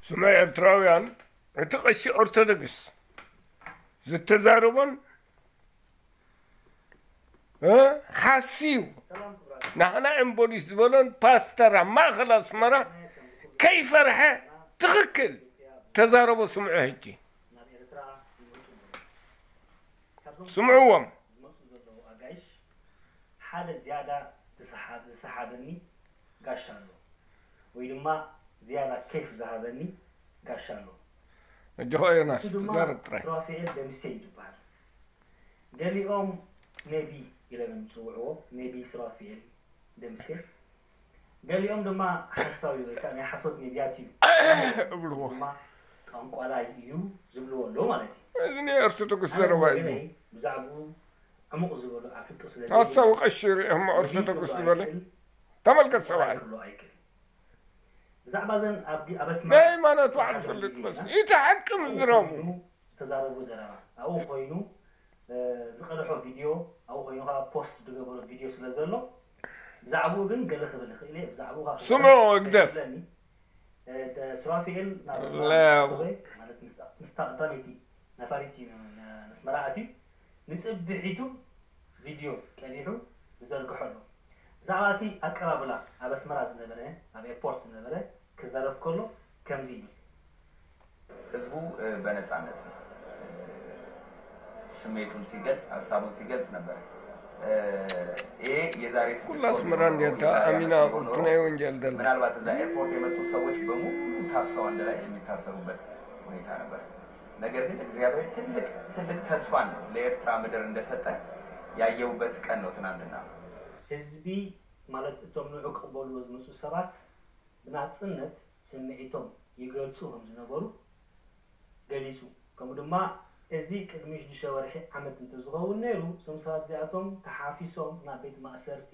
ስምዑ ኤርትራውያን፣ እቲ ቀሺ ኦርቶዶክስ ዝተዛረቦን፣ እ፣ ሓስዩ ንሕና ኤምቦሊስ ዝበሎን ፓስተር ኣብ ማእኸል ኣስመራ ከይፈርሐ ትኽክል ተዛረቦ። ስምዑ ሕጂ። ስምዕዎም። ሓደ ዝያዳ ዝሰሓ-፣ ዝሰሓበኒ ጋሻ ኣሎ፣ ወይ ድማ ዝያዳ ኬፍ ዝሃበኒ ጋሻ ኣሎ። ኣጆኻ ዮናስ፣ ንሱ ድማ ተዛረብ ጥራይ። ሱራፊኤል ደምሴ እዩ ዝበሃል። ገሊኦም ነቢ ኢሎም እዮም ዝፅውዕዎ፣ ነቢ ሱራፊኤል ደምሴ። ገሊኦም ድማ ሓሳዊ ወይ ከዓ ናይ ሓሶት ነቢያት እዩ እብልዎ። ድማ ጠንቋላይ እዩ ዝብልዎ ኣሎ ማለት እዩ። እዚ ናይ ኦርቶዶክስ ኣነ ዘረባ እዩ። ብወገነይ ብዛዕባኡ ዕሙቕ ዝበሉ ኣብ ሕቶ ስለ ዘይብለይ ሓሳዊ ቀሺ ሪኦም ነቢ ኦርቶዶክስ ክብሎ ዝበለ ኣይክእል፣ ተመልከት ጠንቋላይ ሰብኣይ። ክብሎ ኣይክእል። ብዛዕባ እዘን ኣብ ዲ-፣ ኣብ ኣስመራ ናይ ሃይማኖት በዓል ሓደ ፈልጥ ግዜ መስ ኢና እቲ ሓቂ ኣብ ምዝራቡ። ኮይኑ ዝተዛረቦ ዘረባ ኣብኡ ኮይኑ፣ እ፣ ዝቐድሖ ቪድዮ ኣብኡ ኮይኑ ከዓ ፖስት ዝገበሮ ቪድዮ ስለ ዘሎ ብዛዕባኡ ግን ገለ ክብል ይኽእል እየ። ብዛዕባኡ ከዓ ስምዑ ክዛረብ ህግደፍ። ስለኒ፣ እ፣ ደ-፣ ሱራፊኤል ናብ ኣስመራ ለው። ምስ ኣተወ፣ ማለት ምስታ፣ ምስታ ቀዳመይቲ ነፋሪት እዩ ን-፣ ን-፣ ንኣስመራ ኣትዩ። ንጽብሒቱ ቪድዮ ቀዲሑ ዝዘርግሖ ኣሎ። ብዛዕባ እቲ ኣቀባብላ ኣብ ኣስመራ ዝነበረ፣ ኣብ ኤርፖርት ዝነበረ ክዛረብ ከሎ ከምዚ ይብል። ህዝቡ፣ እ፣ በነጻነት፣ እ፣ ስሜቱን ሲገልጽ፣ ሐሳቡን ሲገልጽ ነበር። እ፣ ይሄ የዛሬ ስድስት ኩላ ወር አስመራ ቢሆን ኖሮ፣ እንዲያታ የዛሬ አሚና ዓመት ቢሆን ኖሮ፣ ቁርቱና ይወንጀል ደላ። ምናልባት እዛ ኤርፖርት የመጡት ሰዎች በሙሉ ታፍሰው አንድ ላይ የሚታሰሩበት ሁኔታ ነበር። ነገር ግን እግዚአብሔር ትልቅ፣ ትልቅ ተስፋን ነው ለኤርትራ ምድር እንደሰጠ ያየሁበት ቀን ነው ትናንትና። ህዝቢ ማለት እቶም ንዑ ክቕበልዎ ዝመጹ ሰባት ብናጽነት ስምዒቶም ይገልጹ ከም ዝነበሩ ገሊጹ። ከምኡ ድማ እዚ ቅድሚ ሽዱሽተ ወርሒ ዓመት እንተዝኸውን ነይሩ፣ እዞም ሰባት እዚኣቶም ተሓፊሶም ናብ ቤት ማእሰርቲ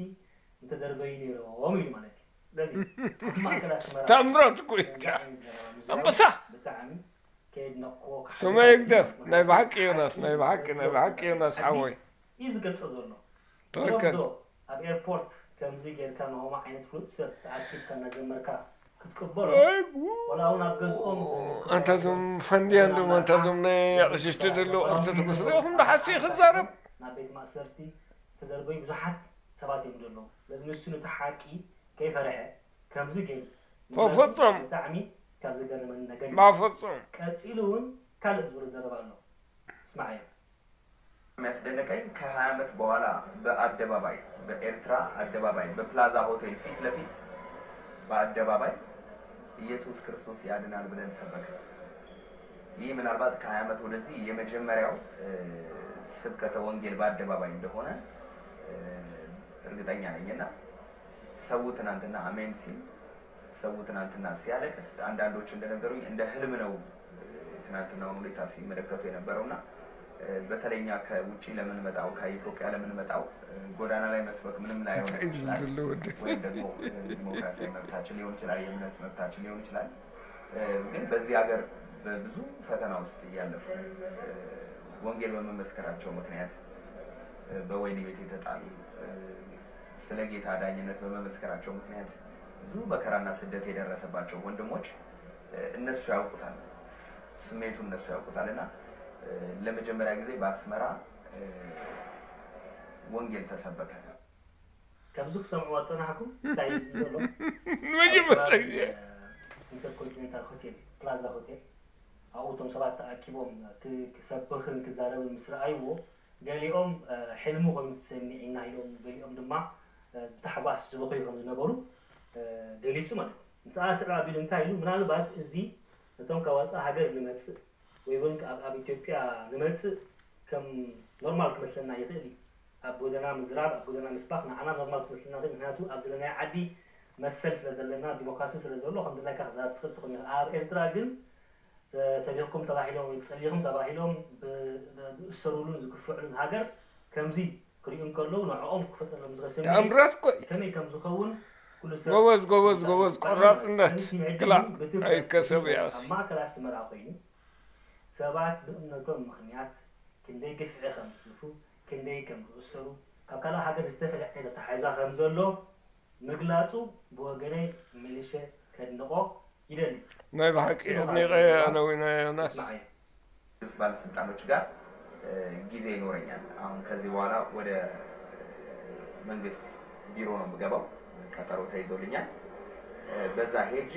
ምተደርበዩ ነይሮም ኢሉ ማለት እዩ። ስለዚ ኣብ ማእከል ኣስመራ ተኣምራት እኮ እዩ። ከምዚ ዓይነት ዘረባ ምዝራቡ ኣንበሳ! ብጣዕሚ ከየድነቕኩዎ ክሓልፍ ሰማይ ይግደፍ። ኣይክእልን። ናይ ብሓቂ ዮናስ፣ ናይ ብሓቂ፣ ናይ ብሓቂ ዮናስ ሓወይ። እዩ ዝገልጾ ዘሎ። ትኽክል። ገለ ዶ ኣብ ኤርፖርት ከምዚ ጌርካ ንኸምኡ ዓይነት ፍሉጥ ሰብ ተኣኪብካ እናዘመርካ ክትቅበሎ? ኣይ፣ ጉ-፣ ወላ እውን ኣብ ገዝኦም ኣንታ እዞም ፈንድያን ድማ፣ ኣንታ እዞም ናይ ኣቕሽሽቲ ዘለዉ ኦርቶዶክስ ሪኢኹም ዶ ሓሲ ክዛረብ? ናብ ቤት ማእሰርቲ ዝተደርበዩ ብዙሓት ሰባት እዮም ዘለዉ። ስለዚ ንሱ ነቲ ሓቂ ከይፈርሐ ከምዚ ገይሩ በፍጹም። ብጣዕሚ ካብ ዘገረመኒ ነገር እዩ። በፍጹም። ቀጺሉ እውን ካልእ ዝብሎ ዘረባ ኣሎ። ስማዓዮ። የሚያስደንቀኝ ከሃያ ዓመት በኋላ በአደባባይ፣ በኤርትራ አደባባይ፣ በፕላዛ ሆቴል ፊት ለፊት በአደባባይ ኢየሱስ ክርስቶስ ያድናል ብለን ሰበክን። ይህ ምናልባት ከሃያ ዓመት ወደዚህ የመጀመሪያው፣ እ፣ ስብከተ ወንጌል በአደባባይ እንደሆነ፣ እ፣ እርግጠኛ ነኝ። እና ሰው ትናንትና አሜን ሲል፣ ሰው ትናንትና ሲያለቅስ፣ አንዳንዶች እንደነገሩኝ እንደ ህልም ነው ትናንትናውን ሁኔታ ሲመለከቱ የነበረውና፣ እ፣ በተለይ እኛ ከውጭ ለምንመጣው፣ ከኢትዮጵያ ለምንመጣው፣ እ፣ ጎዳና ላይ መስበክ ምንም ላይሆን እንታይ ይችላል። ዝብሉ ወደ ወይም ደግሞ፣ እ፣ ዲሞክራሲያዊ መብታችን ሊሆን ይችላል፣ የእምነት መብታችን ሊሆን ይችላል። እ፣ ግን በዚህ ሀገር በብዙ ፈተና ውስጥ እያለፉ፣ እ፣ ወንጌል በመመስከራቸው ምክንያት፣ እ፣ በወህኒ ቤት የተጣሉ፣ እ፣ ስለ ጌታ ዳኝነት በመመስከራቸው ምክንያት ብዙ መከራና ስደት የደረሰባቸው ወንድሞች፣ እ፣ እነሱ ያውቁታል፣ ስሜቱ እነሱ ያውቁታል። እና፣ እ፣ ለመጀመሪያ ጊዜ በአስመራ፣ እ፣ ወንጌል ተሰበከ። ካብዚ ክሰምዕዎ ዝጸናሕኩም እንታይ እዩ ዘሎ? መጀመርታ ኣብ ግዜ። ከባቢ፣ እ፣ ኢንተርኮንቲኔንታል ሆቴል፣ ፕላዛ ሆቴል፣ ኣብኡ እቶም ሰባት ተኣኪቦም ክ-፣ ክሰብኽን ክዛረብን ምስ ረኣይዎ፣ ገሊኦም፣ እ፣ ሕልሚ ኮይኑ ተሰሚዒና ኢሎም፣ ገሊኦም ድማ፣ እ፣ ብታሕጓስ ዝበኽዩ ከም ዝነበሩ፣ እ፣ ገሊጹ ማለት እዩ። ምስ ኣስዕብ ኣቢሉ እንታይ ኢሉ? ምናልባት እዚ ነቶም ካብ ወጻኢ ሃገር ንመጽእ ወይ እውን ኣብ፣ ኣብ ኢትዮጵያ ንመጽእ ከም ኖርማል ክመስለና ይኽእል እዩ። ኣብ ጎደና ምዝራብ፣ ኣብ ጎደና ምስባኽ ንዓና ኖርማል ክመስለና ይኽእል። ምኽንያቱ ኣብ ዘለናዮ ዓዲ መሰል ስለ ዘለና፣ ዲሞክራሲ ስለ ዘሎ፣ ከም ድላይካ ክዛረብ ትኽእል ትኾን ኢኻ። ኣብ ኤርትራ ግን፣ ተ-፣ ሰቢኽኩም ተባሂሎም ወይ ጸሊኹም ተባሂሎም ብ-፣ ብ-፣ ዝእሰሩሉን ዝግፍዑሉን ሃገር ከምዚ ክሪኡ እንከለዉ ንዕኦም ክፈጠሎም ዝኽእል ስምዒት ተኣምራት እኮ እዩ። ከመይ ከም ዝኸውን ኩሉ ሰብ ጎበዝ፣ ጎበዝ፣ ይዛረብ። ጎበዝ፣ ኣነ ቆራጽነት፣ ከምዚ ሕጂ ክላእ፣ ብትብዓት ኣይከሰብ እየ። ኣብ ማእከል ኣስመራ ኮይኑ ሰባት ብእምነቶም ምኽንያት ክንደይ ግፍዒ ከም ዝሕልፉ፣ ክንደይ ከም ዝእሰሩ፣ ካብ ካልእ ሃገር ዝተፈልየ ዓይነት ኣተሓሕዛ ከም ዘሎ ምግላጹ ብወገነይ መሊሸ ከድንቖ ይደሊ። ናይ ብሓቂ ኣድኒቐ ኣነዊና ዮናስ። ባለስልጣኖች ጋር ጊዜ ይኖረኛል። አሁን ከዚህ በኋላ ወደ መንግስት ቢሮ ነው የምገባው። ቀጠሮ ተይዞልኛል። በዛ ሄጄ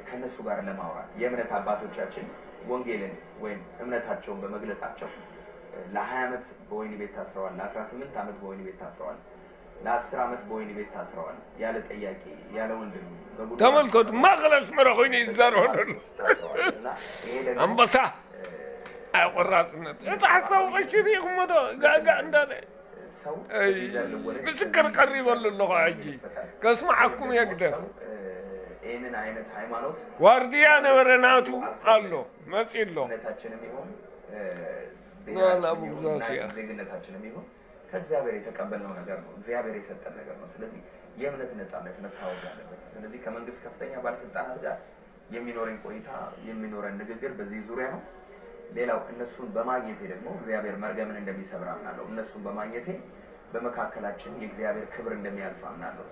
ከነሱ ጋር ለማውራት የእምነት አባቶቻችን ወንጌልን ወይም እምነታቸውን በመግለጻቸው ለ20 ዓመት በወይን ቤት ታስረዋል፣ ለ18 ዓመት በወይን ቤት ታስረዋል፣ ለ10 ዓመት በወይን ቤት ታስረዋል። ያለ ጠያቂ ያለ ወንድም በጉልበት ተመልከቱ፣ ማእኸል ኣስመራ ኮይኑ ይዛረብ ኣሎ። ታስረዋል። እና ይሄ ደግሞ ኣንበሳ ኣይ ቆራፅነት። እቲ ሓሳዊ ቀሺ ርኢኹሞ ዶ? ጋጋ እንዳለ ሰው ኣይ፣ ይዘን ልወለድ ምስክር ቀሪበሉ ኣለኹ። ሕጂ ከስምዓኩም የግደፍ። ሰው ይህንን አይነት ሃይማኖት ዋርድያ ነበረ ናቱ ኣሎ መፂ ኣሎ። እምነታችንም ይሁን ናላ ቡግዛት እያ። ዜግነታችንም ይሁን ከእግዚአብሔር የተቀበልነው ነገር ነው። እግዚአብሔር የሰጠን ነገር ነው። ስለዚህ የእምነት ነጻነት መታወቅ አለበት። ስለዚህ ከመንግስት ከፍተኛ ባለስልጣናት ጋር የሚኖረኝ ቆይታ የሚኖረን ንግግር በዚህ ዙሪያ ነው። ሌላው እነሱን በማግኘቴ ደግሞ እግዚአብሔር መርገምን እንደሚሰብር አምናለሁ። እነሱን በማግኘቴ በመካከላችን የእግዚአብሔር ክብር እንደሚያልፍ አምናለሁ።